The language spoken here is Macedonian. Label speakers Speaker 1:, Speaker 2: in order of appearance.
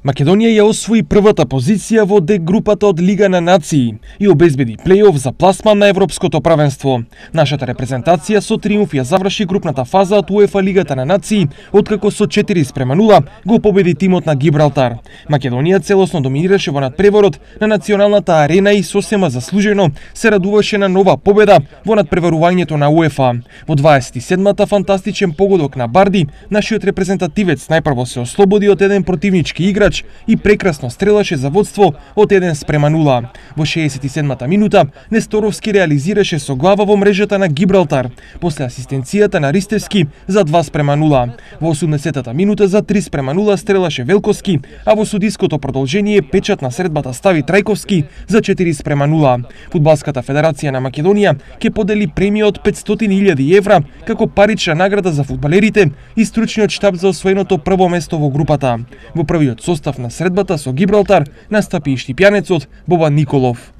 Speaker 1: Македонија ја освои првата позиција во Д групата од Лига на нации и обезбеди плејоф за пласман на Европското правенство. Нашата репрезентација со триумф ја заврши групната фаза од УЕФА Лигата на нации, откако со 4:0 го победи тимот на Гибралтар. Македонија целосно доминираше во надпреварот на националната арена и сосема заслужено се радуваше на нова победа во надпреварувањето на УЕФА. Во 27-та фантастичен погодок на Барди, нашиот репрезентативец најпрво се ослободи од еден противнички играч и прекрасно стрелаше за водство од 1:0. Во 67-та минута Несторовски реализираше со глава во мрежата на Гибралтар, после асистенцијата на Ристевски за 2:0. Во 80-та минута за 3:0 стрелаше Велковски, а во судиското продолжение печат на средбата стави Трајковски за 4:0. Фудбалската федерација на Македонија ќе подели премија од 500.000 евра како парична награда за фудбалерите и стручниот штаб за освоеното прво место во групата. Во првиот состав на средбата со Гибралтар настапи и штипјанецот Бобан Николов.